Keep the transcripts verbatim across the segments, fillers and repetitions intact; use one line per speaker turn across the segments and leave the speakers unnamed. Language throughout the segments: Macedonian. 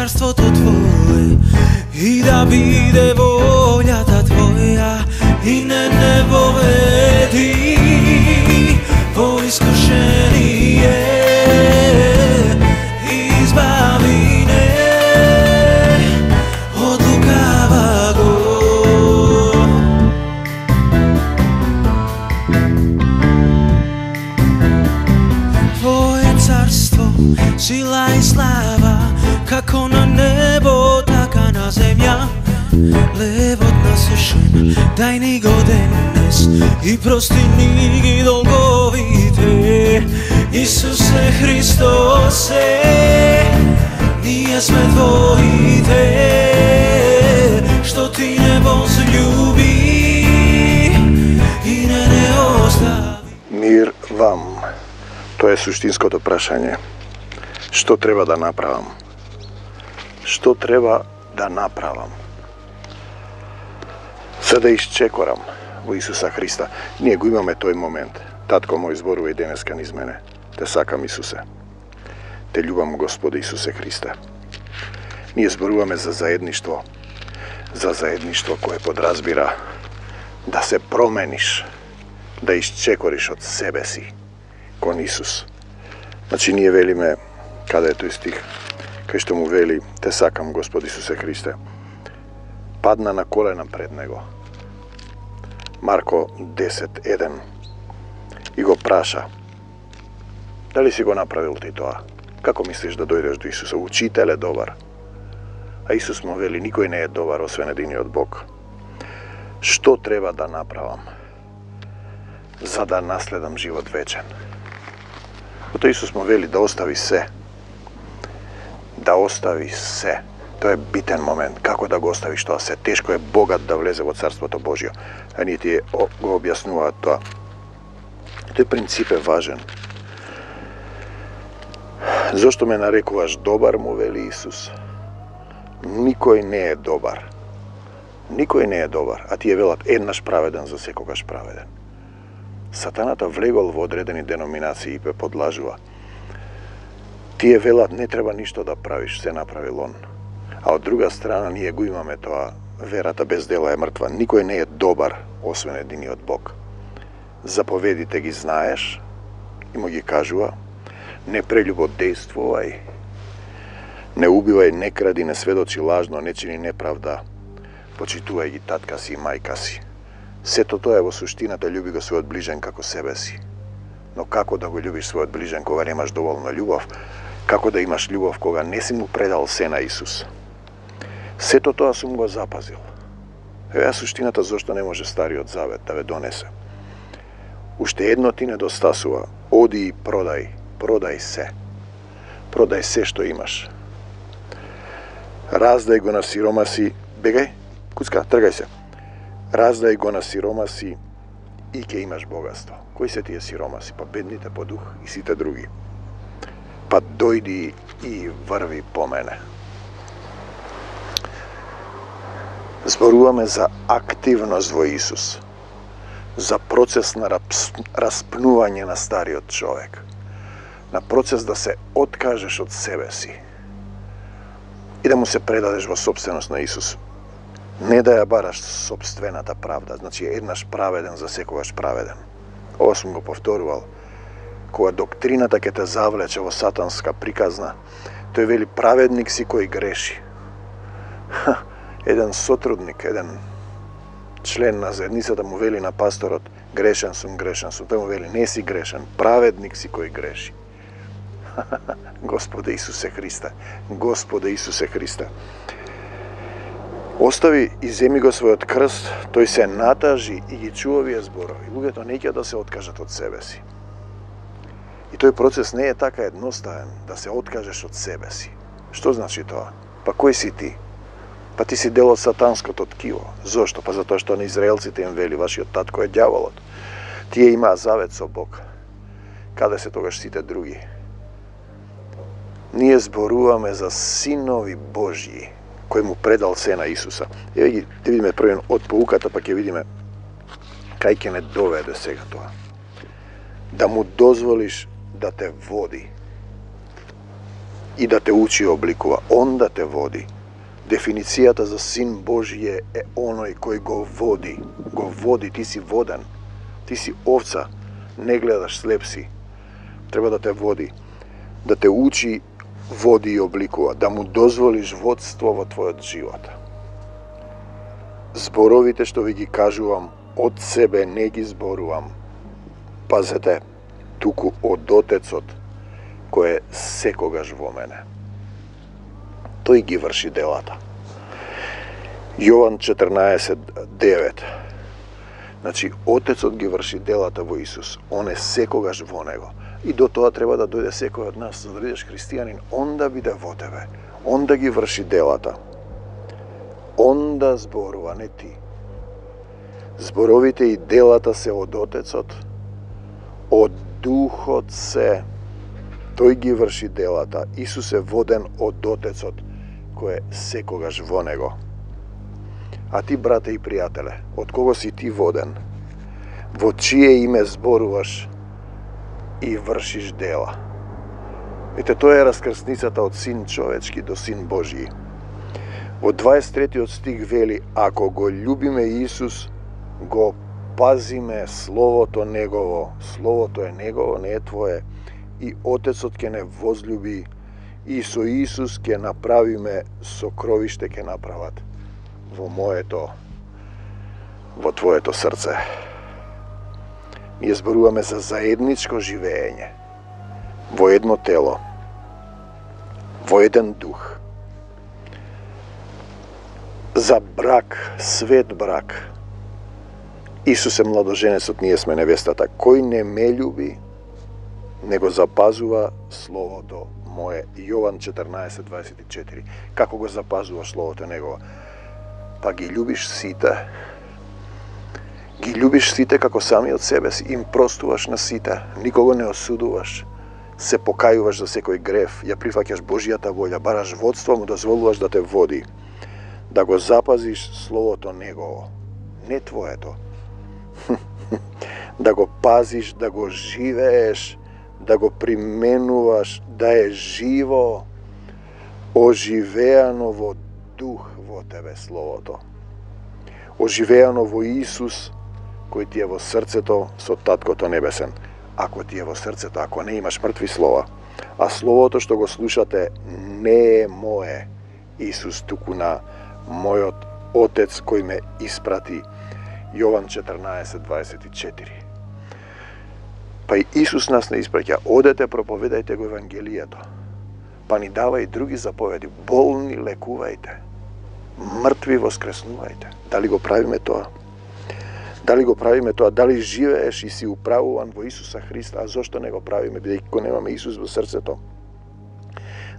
царството Твое и да биде волјата Твоја и не не поведи во искушение, избави не од лукаваго. Твое царство, сила и слава, како на небо, така на земја. Левот насушен, дај ни го денес и прости ни ги долговите. Исусе Христосе, ние сме Твоите, што Ти не возлюби и не не остави.
Мир вам. Тоа е суштинското прашање. Што треба да направам? Што треба да направам? За да исчекорам во Исуса Христа. Ние го имаме тој момент. Татко мој зборува и денеска низ мене. Те сакам, Исусе. Те љубам, Господе Исусе Христе. Ние зборуваме за заедништво. За заедништво кое подразбира да се промениш, да исчекориш од себе си кон Исус. Значи ние велиме, каде е тој стих, кај што му вели, те сакам, Господи Исусе Христе, падна на колена пред Него. Марко десет еден и го праша, дали си го направил ти тоа? Како мислиш да дојдеш до Исуса? Учител е добар. А Исус му вели, никој не е добар освен единиот Бог. Што треба да направам за да наследам живот вечен? Ото Исус му вели да остави се. Да остави се. Тоа е битен момент. Како да го оставиш тоа се? Тешко е богат да влезе во Царството Божјо. А ние ти го објаснуваат тоа. Тој принцип е важен. Зошто ме нарекуваш добар, му вели Исус? Никој не е добар. Никој не е добар. А тие велат еднаш праведен, за секогаш праведен. Сатаната влегол во одредени деноминации и пе подлажува. Тие велат не треба ништо да правиш, се направил он. А од друга страна ние го имаме тоа, верата без дела е мртва. Никој не е добар, освен единиот Бог. Заповедите ги знаеш и му ги кажува, не прелюбодејствувај, не убивај, не кради, не сведочи лажно, не чини неправда, почитувај ги татка си и мајка си. Сето тоа е во суштината, љуби го својот ближен како себе си. Но како да го љубиш својот ближен кога немаш доволно љубов? Како да имаш љубов кога не си му предал се на Исус? Сето тоа сум го запазил. Еве суштината зошто не може Стариот Завет да ве донесе. Уште едно ти недостасува. Оди и продај, продај се. Продај се што имаш. Раздај го на сиромаси, бегај, куцка, тргај се. Раздај го на сиромаси и ќе имаш богатство. Кои се тие сиромаси? Па бедните по дух и сите други. Па дојди и врви по мене. Зборуваме за активност во Исус. За процес на распнување на стариот човек. На процес да се откажеш од себе си. И да му се предадеш во собственост на Исус. Не да ја бараш собствената правда, значи еднаш праведен, за секогаш праведен. Ова сум го повторувал. Кога доктрината ќе те завлече во сатанска приказна, тој вели праведник си кој греши. Ха, еден сотрудник, еден член на заедницата му вели на пасторот, грешен сум, грешен сум. Тој му вели, не си грешен, праведник си кој греши. Господе Исусе Христе, Господе Исусе Христе. Остави и земи го својот крст, тој се натажи и ги чува овие зборови. Луѓето не ќе да се откажат од себе си. И тој процес не е така едноставен, да се откажеш од себе си. Што значи тоа? Па кој си ти? Па ти си дел од сатанското ткиво. Зошто? Па затоа што на израелците им вели, вашиот татко е ѓаволот. Тие имаа завет со Бог. Каде се тогаш сите други? Ние зборуваме за синови Божји, кој му предал се на Исуса. Еве ги, да видиме првен од поуката, па ќе видиме кај ќе не доведе сега тоа. Да му дозволиш да те води. и да те учи и обликува. Он да те води. Дефиницијата за Син Божје е оној кој го води. Го води, ти си воден. Ти си овца, не гледаш, слеп си. Треба да те води. Да те учи, води и обликува. Да му дозволиш водство во твојот живот. Зборовите што ви ги кажувам, од себе не ги зборувам. Пазете, туку од Отецот, кој е секогаш во мене. Тој ги врши делата. Јован четрнаесет девет. Значи, Отецот ги врши делата во Исус. Он е секогаш во него. И до тоа треба да дојде секој од нас, за да бидеш христијанин. Он да биде во тебе. Он да ги врши делата. Он да зборува, не ти. Зборовите и делата се од Отецот, од Духот се. Тој ги врши делата. Исус е воден од Отецот, кој е секогаш во него. А ти, брате и пријателе, од кого си ти воден? Во чие име зборуваш и вршиш дела? Ете, тоа е раскрсницата од Син човечки до Син Божји. Во дваесет третиот стих вели: ако го љубиме Исус, го пазиме Словото Негово. Словото е Негово, не е твое. И Отецот ќе не возлюби, и со Исус ќе направиме сокровиште, ќе направат во моето, во твоето срце. Ние зборуваме за заедничко живење, во едно тело, во еден дух. За брак, свет брак. Исус е младоженецот, ние сме невестата. Кој не ме љуби, не го запазува Словото мое. Јован четрнаесет дваесет и четири. Како го запазуваш Словото Негово? Па ги љубиш сите. Ги љубиш сите како самиот себе си. Им простуваш на сите. Никого не осудуваш. Се покајуваш за секој грев. Ја прифаќаш Божјата волја. Бараш водство, му дозволуваш да те води. Да го запазиш Словото Негово. Не твоето. Да го пазиш, да го живееш, да го применуваш, да е живо, оживеано во дух во тебе Словото. Оживеано во Исус, кој ти е во срцето со Таткото Небесен. Ако ти е во срцето, ако не имаш мртви слова, а Словото што го слушате не е мое, Исус, туку на мојот Отец кој ме испрати. Јован четрнаесет дваесет и четири. Па и Исус нас не испраќа: одете, проповедајте го Евангелието. Па ни дава и други заповеди: болни лекувајте, мртви воскреснувајте. Дали го правиме тоа? Дали го правиме тоа? Дали живееш и си управуван во Исуса Христа? А зошто не го правиме, бидејќи го немаме Исус во срцето?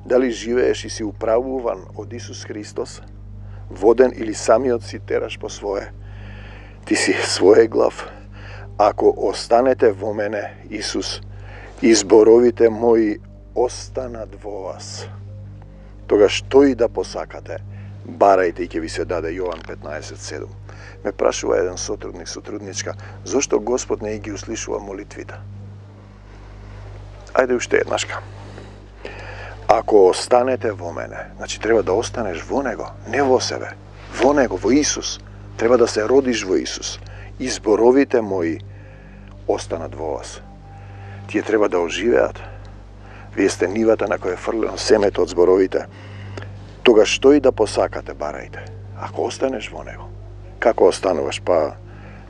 Дали живееш и си управуван од Исус Христос, воден или самиот си тераш по свое? Ти си своје глав. Ако останете во мене, Исус, и зборовите мои останат во вас, тогаш тој да посакате, барајте и ќе ви се даде. Јован петнаесет седум. Ме прашува еден сотрудник, сотрудничка, зошто Господ не ги услишува молитвите? Ајде уште еднашка. Ако останете во мене, значи треба да останеш во Него, не во себе, во Него, во Исус. Треба да се родиш во Исус. И зборовите мои останат во вас. Тие треба да оживеат. Вие сте нивата на која е фрлено семето од зборовите. Тогаш тој да посакате, барајте. Ако останеш во Него. Како остануваш? Па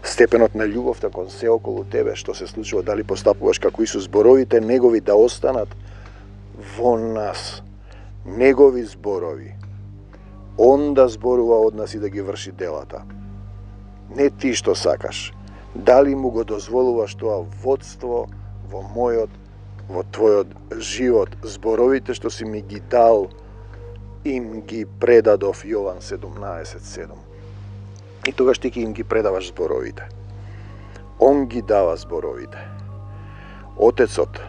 степенот на љубовта кон се околу тебе, што се случува, дали постапуваш како Исус, зборовите Негови да останат во нас. Негови зборови. Он да зборува од нас и да ги врши делата. Не ти што сакаш. Дали му го дозволуваш тоа водство во мојот, во твојот живот? Зборовите што си ми ги дал, им ги предадов. Јован седумнаесет седум. И тогаш ти ќе им ги предаваш зборовите. Он ги дава зборовите. Отецот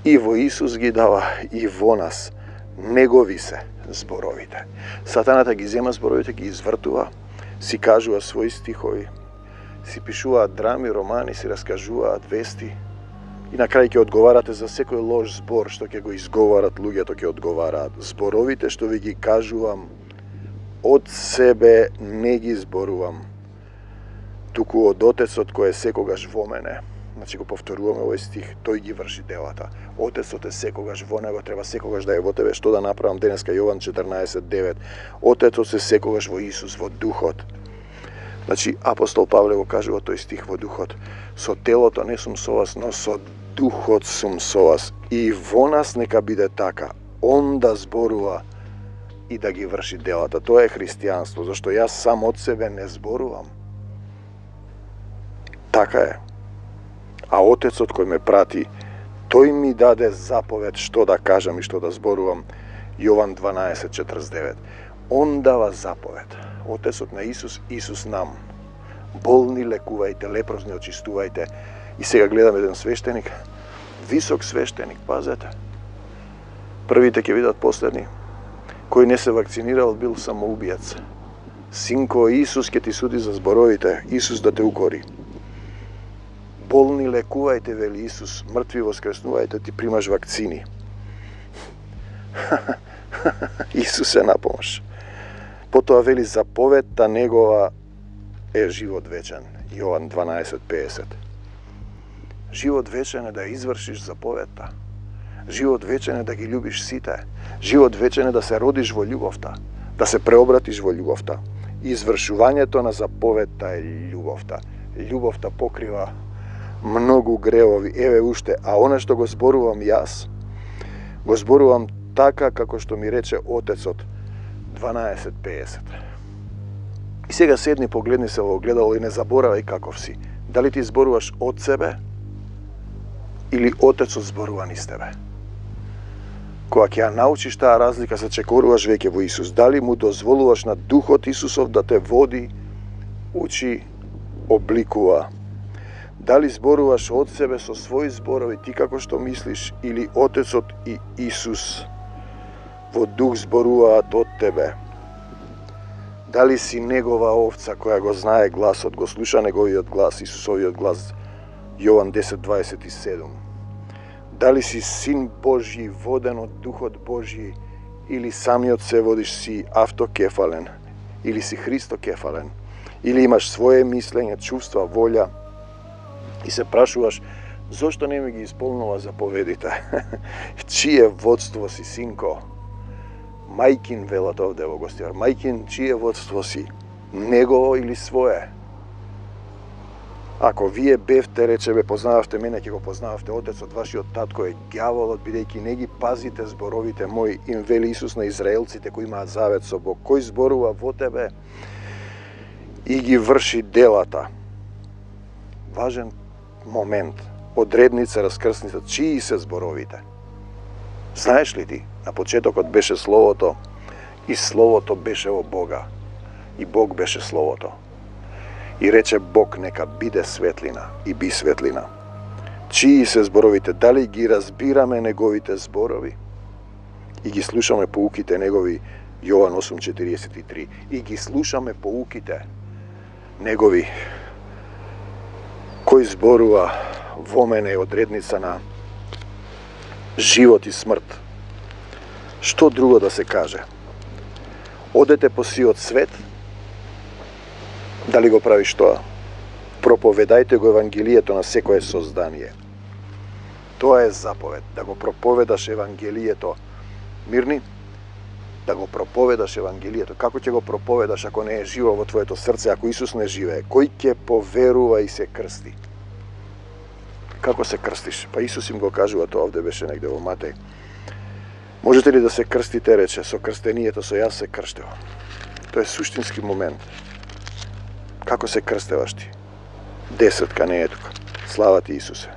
и во Исус ги дава, и во нас. Негови се зборовите. Сатаната ги зема зборовите, ги извртува, си кажува своји стихови, си пишуваат драми, романи, си раскажуваат вести, И на крај ќе одговарате за секој лош збор што ќе го изговарат луѓето, ќе одговараат. Зборовите што ви ги кажувам, од себе не ги зборувам, туку од Отецот кој е секогаш во мене. Значи го повторуваме овој стих, тој ги врши делата. Отецот е секогаш во него, треба секогаш да е во тебе. Што да направам денеска? Јован четрнаесет девет. Отецот е секогаш во Исус, во духот. Значи апостол Павле го кажува тој стих во духот. Со телото не сум со вас, но со духот сум со вас. И во нас нека биде така. Он да зборува и да ги врши делата. Тоа е христијанство, зашто јас сам од себе не зборувам. Така е. А Отецот кој ме прати, тој ми даде заповед што да кажам и што да зборувам. Јован дванаесет четрдесет девет. Он дава заповед. Отецот на Исус, Исус нам. Болни лекувајте, лепрозни очистувајте. И сега гледам еден свештеник, висок свештеник, пазете. Првите ќе видат последни. Кој не се вакцинирал бил самоубиец. Синко, Исус ќе ти суди за зборовите, Исус да те укори. Болни лекувајте, вели Исус, мртви воскреснувајте, ти примаш вакцини. Исус е напомаш. Потоа вели заповедта негова е живот вечен. Јован дванаесет педесет. Живот вечен е да извршиш заповедта. Живот вечен е да ги љубиш сите. Живот вечен е да се родиш во љубовта, да се преобратиш во љубовта. Извршувањето на заповедта е љубовта. Љубовта покрива многу гревови, еве уште, а она што го зборувам јас, го зборувам така како што ми рече Отецот, дванаесет педесет. И сега седни, погледни се во огледало и не заборавај каков си. Дали ти зборуваш од себе или Отецот зборува низ тебе? Кога ќе ја научиш таа разлика, се чекоруваш веќе во Исус. Дали му дозволуваш на Духот Исусов да те води, учи, обликува? Дали зборуваш од себе со своји зборови, ти како што мислиш, или Отецот и Исус во дух зборуваат од тебе? Дали си негова овца која го знае гласот, го слуша неговиот глас, Исусовиот глас, Јован десет дваесет и седум? Дали си син Божји, воден од Духот Божји, или самиот се водиш си автокефален, или си христокефален, или имаш своje мислење, чувства, волја, и се прашуваш, зошто не ми ги исполнува заповедите? Чие водство си, синко? Мајкин, велат овде во гостивар. Мајкин, чие водство си? Негово или свое? Ако вие бевте, рече, бе, познававте мене, ќе го познававте Отецот, вашиот татко е ѓаволот, бидејќи не ги пазите зборовите мои, им вели Исус на израелците кои имаат завет со Бог. Кој зборува во тебе и ги врши делата? Важен момент, одредница, раскрсница, чии се зборовите? Знаеш ли ти, на почетокот беше Словото и Словото беше во Бога и Бог беше Словото. И рече Бог нека биде светлина и би светлина. Чии се зборовите? Дали ги разбираме неговите зборови? И ги слушаме поуките негови, Јован осум четириесет и три. И ги слушаме поуките негови, кој зборува во мене е одредница на живот и смрт. Што друго да се каже? Одете по сиот свет, дали го правиш тоа? Проповедајте го Евангелието на секое создание. Тоа е заповед, да го проповедаш Евангелието. Мирни? Да го проповедаш Евангелието. Како ќе го проповедаш ако не е живо во твоето срце, ако Исус не живее? Кој ќе поверува и се крсти? Како се крстиш? Па Исус им го кажува, тоа овде беше негде во Матеј. Можете ли да се крстите, рече, со крстенијето, со јас се крштева. Тоа е суштински момент. Како се крстеваш ти? Десетка не е тука. Слава ти Исусе.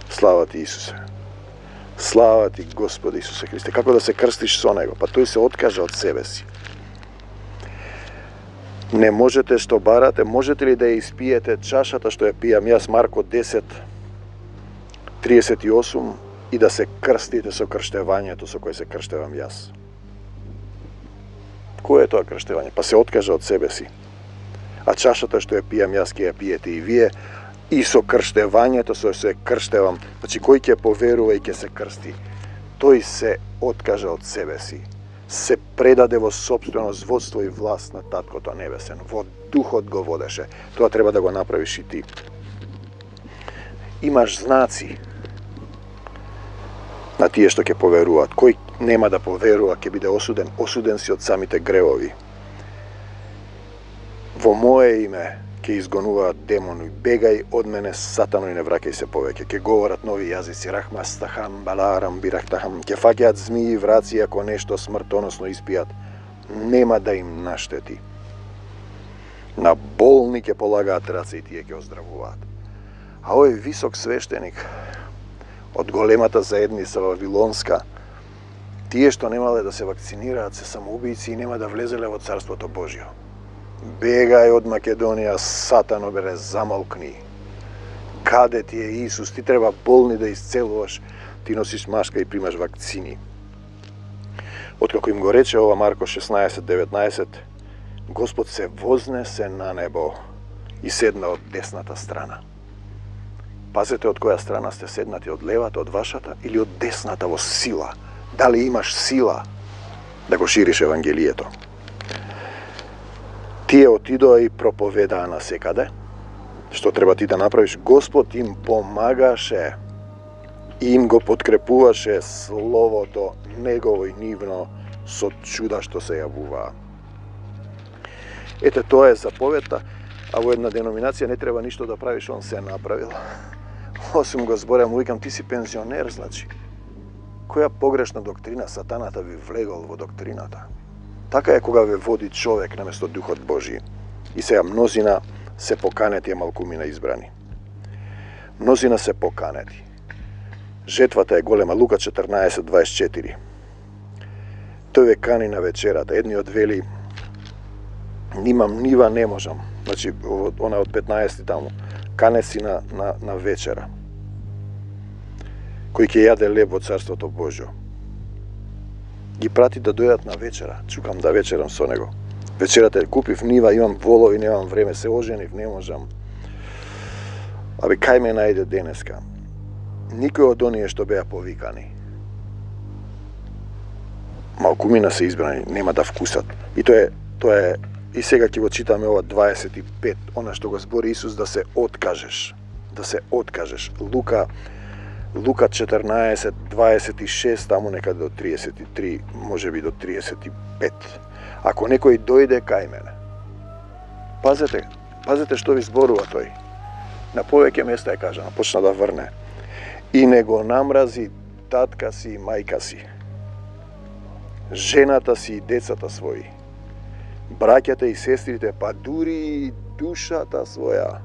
Слава ти Исусе. Слава ти Господи Исусе Христе. Како да се крстиш со Него? Па тој се откажа од себе си. Не можете што барате, можете ли да ја испиете чашата што ја пијам јас, Марко десет триесет и осум, и да се крстите со крштевањето со кој се крштевам јас? Кој е тоа крштевање? Па се откажа од себе си. А чашата што ја пијам јас, ќе ја пиете и вие, и со крштевањето, со се крштевам, значи кој ќе поверува и ќе се крсти, тој се откажа од себе си, се предаде во сопствено водство и власт на Таткото Небесен, во духот го водеше. Тоа треба да го направиш и ти. Имаш знаци на тие што ќе поверуваат. Кој нема да поверува ќе биде осуден, осуден си од самите гревови. Во мое име ќе изгонуваат демони, бегај од мене сатано и не враќај се повеќе. Ќе говорат нови јазици, рахмастахам, баларам, бирахтахам, ќе фаќаат змии и враци ако нешто смртоносно испијат, нема да им наштети. На болни ќе полагаат раце и тие ќе оздравуваат. А овој висок свештеник од големата заедница Вавилонска, тие што немале да се вакцинираат се самоубийци и нема да влезеле во Царството Божјо. Бегај од Македонија, сатано, бере, замолкни. Каде ти е Исус? Ти треба болни да исцелуваш, ти носиш машка и примаш вакцини. Откако им го рече ова Марко шеснаесет деветнаесет, Господ се вознесе на небо и седна од десната страна. Пазете од која страна сте седнати, од левата, од вашата или од десната во сила. Дали имаш сила да го шириш Евангелието? Тие отидоа и проповедаа насекаде. Што треба ти да направиш? Господ им помагаше и им го подкрепуваше словото негово и нивно со чуда што се јавуваа. Ете, тоа е заповедта, а во една деноминација не треба ништо да правиш, он се направил. Осум го зборам, викам, ти си пензионер, значи. Која погрешна доктрина сатаната ви влегол во доктрината? Така е кога ве води човек наместо Духот Божи. И сега мнозина се поканети, а малкумина избрани. Мнозина се поканети. Жетвата е голема. Лука четрнаесет дваесет и четири. Тој ве кани на вечерата. Едниот вели, нимам нива, не можам. Значи, она од петнаесет таму. Кане си на, на, на вечера. Кој ќе јаде леб во Царството Божјо. Ги прати да дојдат на вечера. Чукам да вечерам со него. Вечерата е купив нива, имам волови, немам време, се оженив, не можам. Абе, кај ме најде денеска? Никој од оние што беа повикани. Малкумина се избрани, нема да вкусат. И тоа е, тоа е, и сега ќе го читаме ова дваесет и пет, она што го збори Исус, да се откажеш. Да се откажеш. Лука Лука четрнаесет дваесет и шест, таму некаде до триесет и три, може би до триесет и пет. Ако некој дојде кај мене, пазете, пазете што ви зборува тој. На повеќе места е кажано, почна да врне. И не го намрази татка си и мајка си, жената си и децата своји, браќата и сестрите, па дури и душата своја,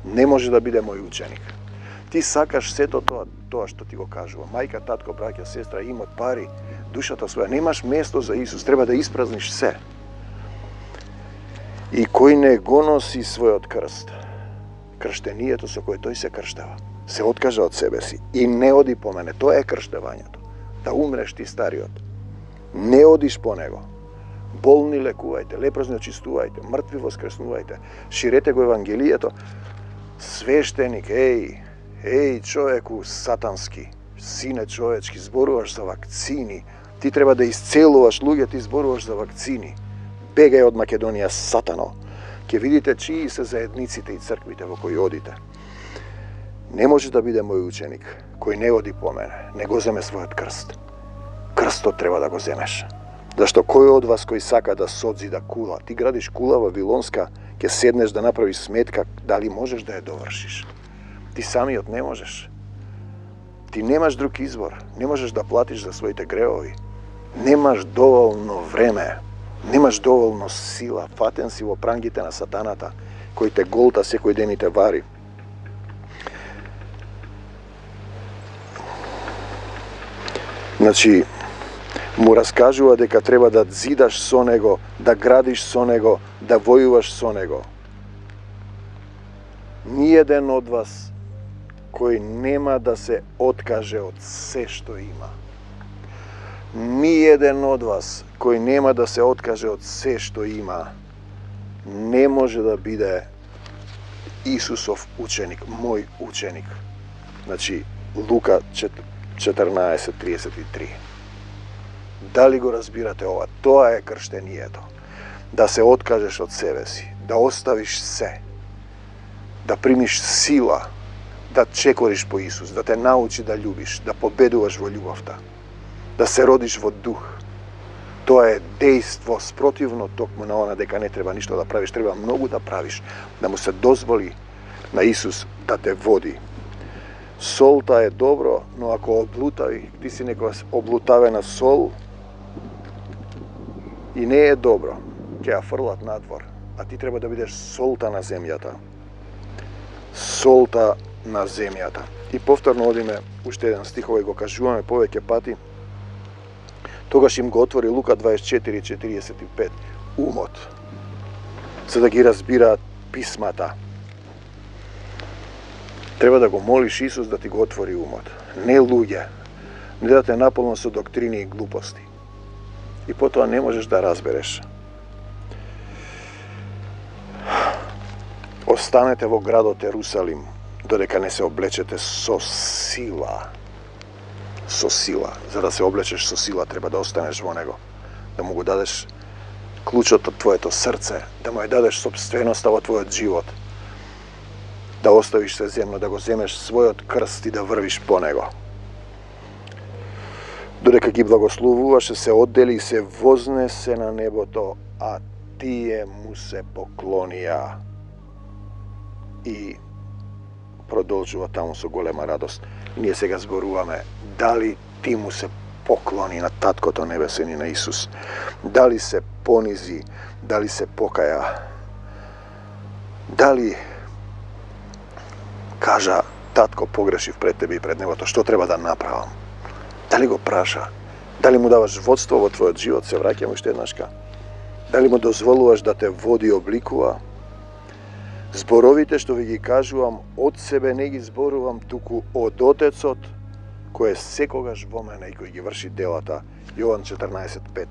не може да биде мој ученик. Ти сакаш сето тоа, тоа што ти го кажува. Мајка, татко, браќа, сестра, имот, пари, душата своја. Немаш место за Исус, треба да испразниш се. И кој не го носи својот крст, крштението со кој тој се крштева, се откажа од себе си и не оди по мене. Тоа е крштевањето. Да умреш ти стариот. Не одиш по него. Болни лекувајте, лепрозни очистувајте, мртви воскреснувајте, ширете го Евангелието. Свештеник, еј, еј, човеку сатански, сине човечки, зборуваш за вакцини. Ти треба да исцелуваш луѓе, ти зборуваш за вакцини. Бегај од Македонија, сатано. Ке видите чии се заедниците и црквите во кои одите. Не може да биде мој ученик кој не оди по мене, не го земе својот крст. Крстот треба да го земеш. Зашто кој од вас кој сака да содзида кула, ти градиш кула Вавилонска, ќе седнеш да направиш сметка дали можеш да ја довршиш. Ти самиот не можеш. Ти немаш друг избор. Не можеш да платиш за своите греови. Немаш доволно време. Немаш доволно сила. Фатен си во прангите на сатаната, кој те голта секој ден и те вари. Значи, му раскажува дека треба да зидаш со него, да градиш со него, да војуваш со него. Ниеден од вас кој нема да се откаже од се што има. Ниеден од вас кој нема да се откаже од се што има, не може да биде Исусов ученик, мој ученик. Значи, Лука четрнаесет триесет и три. Дали го разбирате ова? Тоа е крштението. Да се откажеш од себе си, да оставиш се, да примиш сила, да чекориш по Исус, да те научи да љубиш, да победуваш во љубовта, да се родиш во дух. Тоа е дејство спротивно токму на она дека не треба ништо да правиш, треба многу да правиш, да му се дозволи на Исус да те води. Солта е добро, но ако облутави, ти си некоја облутавена сол и не е добро, ќе ја фрлат надвор, а ти треба да бидеш солта на земјата. Солта на земјата. И повторно одиме уште еден стих, овој го кажуваме повеќе пати. Тогаш им го отвори Лука дваесет и четири четириесет и пет умот, за да ги разбираат писмата. Треба да го молиш Исус да ти го отвори умот. Не луѓе, не да те наполно со доктрини и глупости. И потоа не можеш да разбереш. Останете во градот Ерусалим, додека не се облечете со сила. Со сила. За да се облечеш со сила, треба да останеш во него. Да му го дадеш клучот од твоето срце, да му ја дадеш собственоста во твојот живот. Да оставиш се земно, да го земеш својот крст и да врвиш по него. Додека ги благословуваше, се оддели и се вознесе на небото, а тие му се поклонија. И продолжува таму со голема радост. Ние сега зборуваме дали ти му се поклони на Таткото Небесен и на Исус. Дали се понизи, дали се покаја. Дали кажа, татко, погрешив пред тебе и пред небото, што треба да направам? Дали го праша? Дали му даваш водство во твојот живот, се враќам уште еднашка? Дали му дозволуваш да те води и обликува? Зборовите што ви ги кажувам, од себе не ги зборувам, туку од Отецот, кој е секогаш во мене и кој ги врши делата. Јован четрнаесет пет.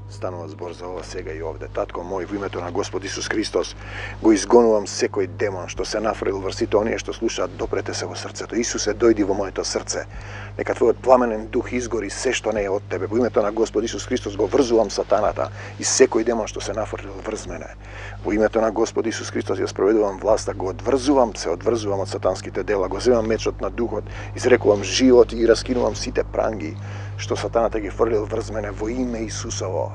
Станува збор за ова сега и овде. Татко мој, во името на Господ Исус Христос, го изгонувам секој демон што се нафрил врз сите оние што слушаат, допрете се во срцето. Исусе, дојди во моето срце. Нека твојот пламенен дух изгори се што не е од тебе. Во името на Господ Исус Христос го врзувам сатаната и секој демон што се нафрил врз мене. Во името на Господ Исус Христос ја спроведувам власта, го одврзувам, се одврзувам од сатанските дела, го земам мечот на духот, изрекувам живот и раскинувам сите пранги што сатаната ги фрлил врз мене во име Исусово.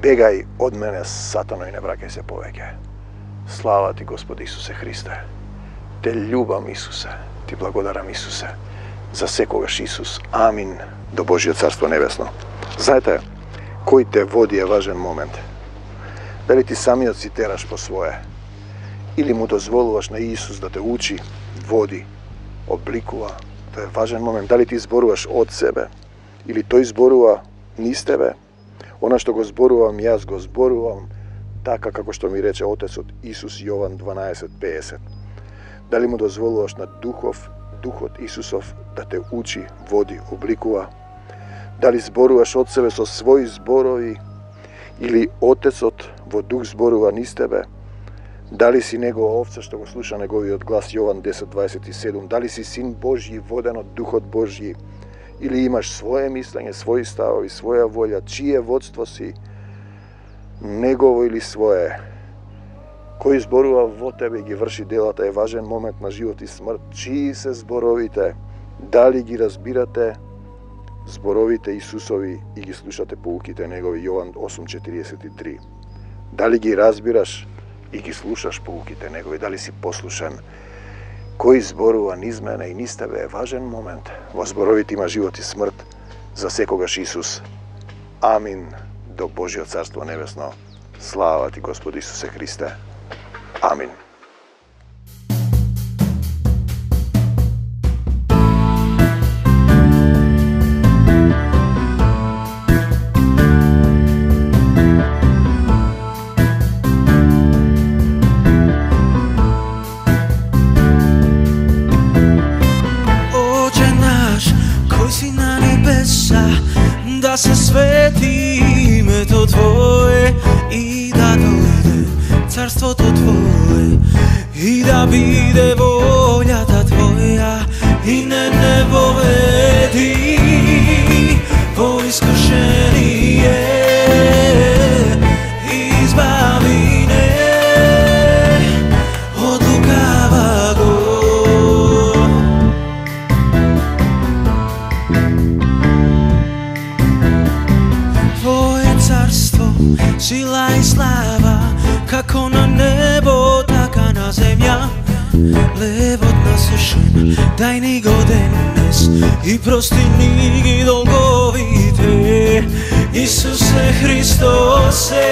Бегај од мене, сатано, и не враќај се повеќе. Слава ти, Господи Исусе Христе. Те љубам, Исусе. Ти благодарам, Исусе. За секогаш, Исус. Амин. До Божјо Царство Небесно. Знаете, кој те води е важен момент. Дали ти самиот си тераш по свое, или му дозволуваш на Исус да те учи, води, обликува. Тоа е важен момент. Дали ти зборуваш од себе, или тој зборува низ тебе. Она што го зборувам, јас го зборувам така како што ми рече Отецот Исус, Јован дванаесет педесет. Дали му дозволуваш на Духов, Духот Исусов да те учи, води, обликува? Дали зборуваш од себе со своји зборови, или Отецот во Дух зборува низ тебе? Дали си негова овца што го слуша неговиот глас, Јован десет дваесет и седум? Дали си син Божји, воден од Духот Божји? Или имаш своje мислење, своји ставови, своја волја, чие водство си, негово или свое? Кој зборува во тебе и ги врши делата, е важен момент на живот и смрт. Чии се зборовите? Дали ги разбирате зборовите Исусови и ги слушате поуките негови, Јован осум четириесет и три? Дали ги разбираш и ги слушаш поуките негови? Дали си послушен? Кој зборува низ мене и низ тебе, е важен момент. Во зборовите има живот и смрт. За секогаш, Исус. Амин. До Божјо Царство Небесно. Слава ти, Господи Исусе Христе. Амин.
Да се свети името Твое и да дојде царството Твое и да да биде волјата Твоја и не не поведи во искушение, избави не од лукаваго. Твое царство, сила и слава, како на небо, така на земја. Левот насушен, дај ни го денес и прости ни ги долговите. Исусе Христосе,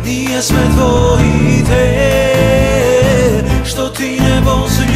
ние сме Твоите, што Ти не вози